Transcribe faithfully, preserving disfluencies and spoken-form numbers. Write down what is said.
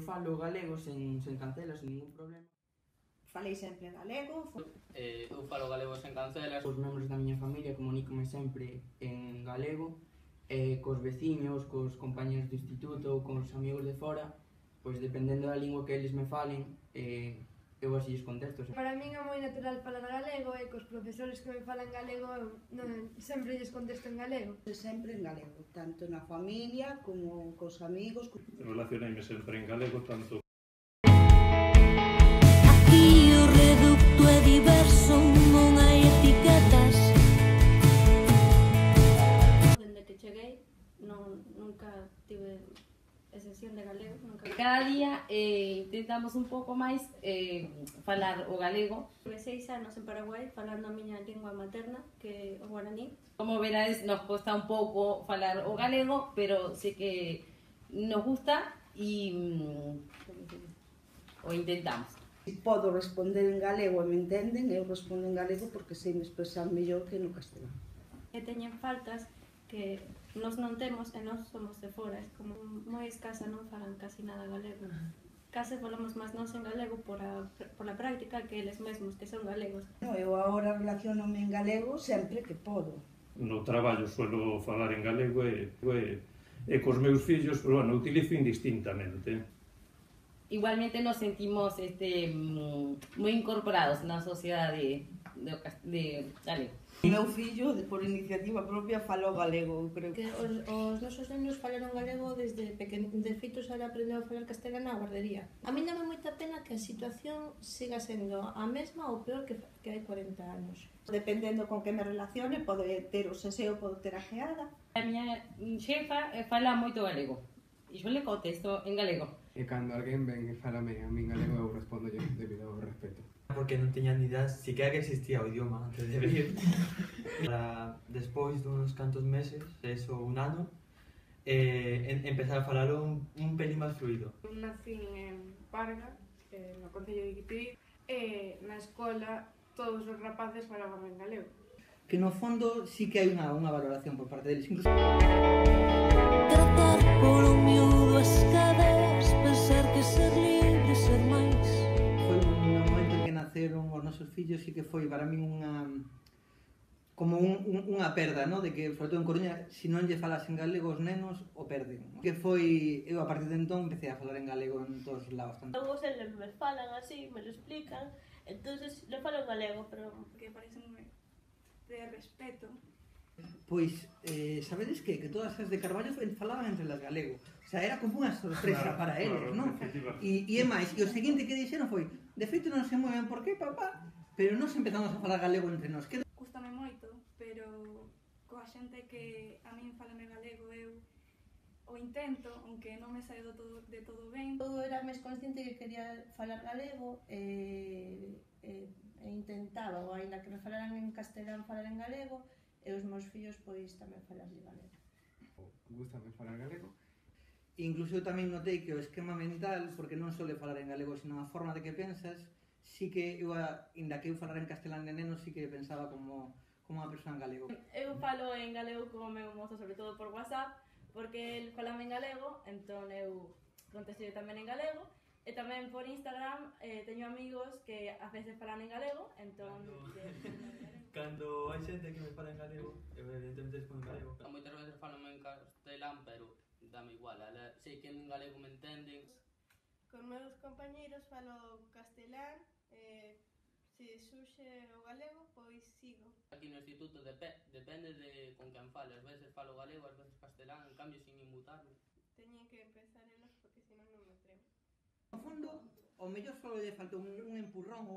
falo galego sen, sen cancelas, sen ningún problema. Falei sempre en galego. Eh, eu falo galego sen cancelas. Os membros da miña familia comunícome sempre en galego, e cos veciños, cos compañeros do instituto, cos amigos de fora, pois dependendo da lingua que eles me falen, eh, eu así lles contesto. Para min é moi natural falar galego e cos profesores que me falan galego eu non, sempre lles contesto en galego. Sempre en galego, tanto na familia como cos amigos. Relacioneime sempre en galego, tanto aquí o reducto é diverso, non hai etiquetas. Dende que cheguei non, nunca tive excepción de galego, nunca. Cada día eh, intentamos un pouco máis eh, falar o galego. Tive seis anos en Paraguai falando a miña lingua materna, que é o guaraní. Como verades, nos costa un pouco falar o galego, pero sei que nos gusta e mm, o intentamos. Se podo responder en galego e me entenden, eu respondo en galego porque sei me expresar mellor que no castelán. E teñen faltas que nos non temos e nós somos de fora, é como moi escasa, non falan casi nada galego. Case falamos máis nós en galego por a, por a práctica que eles mesmos, que son galegos. No, eu agora relacionome en galego sempre que podo. no traballo suelo falar en galego e, e, e cos meus fillos, pero bueno, utilizo indistintamente. Igualmente nos sentimos este, moi incorporados na sociedade de, de galego. O meu fillo, por iniciativa propia, falo galego, creo que os, os nosos nenos falaron galego desde pequeno, de feito xa aprendeu a falar castelán na guardería. A mí dame moita pena que a situación siga sendo a mesma ou peor que, que hai cuarenta anos. Dependendo con que me relacione, pode ter o seseo, pode ter a geada. A miña xefa fala moito galego e eu le contesto en galego. E cando alguén ven e falame a min galego, eu respondo yo debido ao respeto. Porque non teña ni idea siquiera que existía o idioma antes de venir. Para despois duns cantos meses, eso un ano, eh, en, empezar a falalo un, un pelín máis fluido. Nací en Parga, eh, no concello de Guitiri, e na escola todos os rapaces falaban en galego. Que no fondo sí que hai unha, unha valoración por parte deles, incluso tratar por un miúdo as cadeas, pensar que ser libre, ser máis. Foi un momento en que naceron os nosos fillos e que foi para min unha como un, un, unha perda, no? De que, sobre todo en Coruña, se non lle falas en galego os nenos, o perden. Que foi, eu a partir de entón empecé a falar en galego en todos os lados. Algo se me falan así, me lo explican, entonces le falo en galego, pero que parece moi de respeto. Pois, eh, sabedes que? Que todas as de Carballo falaban entre las galego. O sea, era como unha sorpresa claro, para eles, claro, non? E, e é máis, e o seguinte que dixeron foi, de feito non se mueven por qué, papá, pero nos empezamos a falar galego entre nós. Que... Gústame moito, pero coa xente que a min falame galego eu o intento, aunque non me sae do todo, de todo ben. Eu era máis consciente que quería falar galego e, e, e intentaba, ou ainda que me falaran en castelán, falar en galego, e os meus fillos pois tamén falarlle galego. Gústame falar galego. Incluso eu tamén notei que o esquema mental, porque non só falar en galego, sino a forma de que pensas, sí que eu, inda que eu falar en castelán de neno, sí que pensaba como, como unha persoa en galego. Eu falo en galego como meu mozo, sobre todo por WhatsApp, porque el falame en galego, entón eu contesto tamén en galego, e tamén por Instagram eh, teño amigos que a veces falan en galego, entón... Cando hai xente que me fala en galego, eu evidentemente respondo en galego. Moitas veces falame en castelán, pero dame igual, ala, sei que en galego me entenden. Con meus compañeiros falo castelán, eh, se surxe o galego, pois sigo. Aquí no instituto dep depende de con quen fale, ás veces falo galego, ás veces castelán, en cambio sin inmutarme. Teñen que empezar elas porque senón non me tremo. No fondo, o mellor só lle faltou un, un empurrón ou...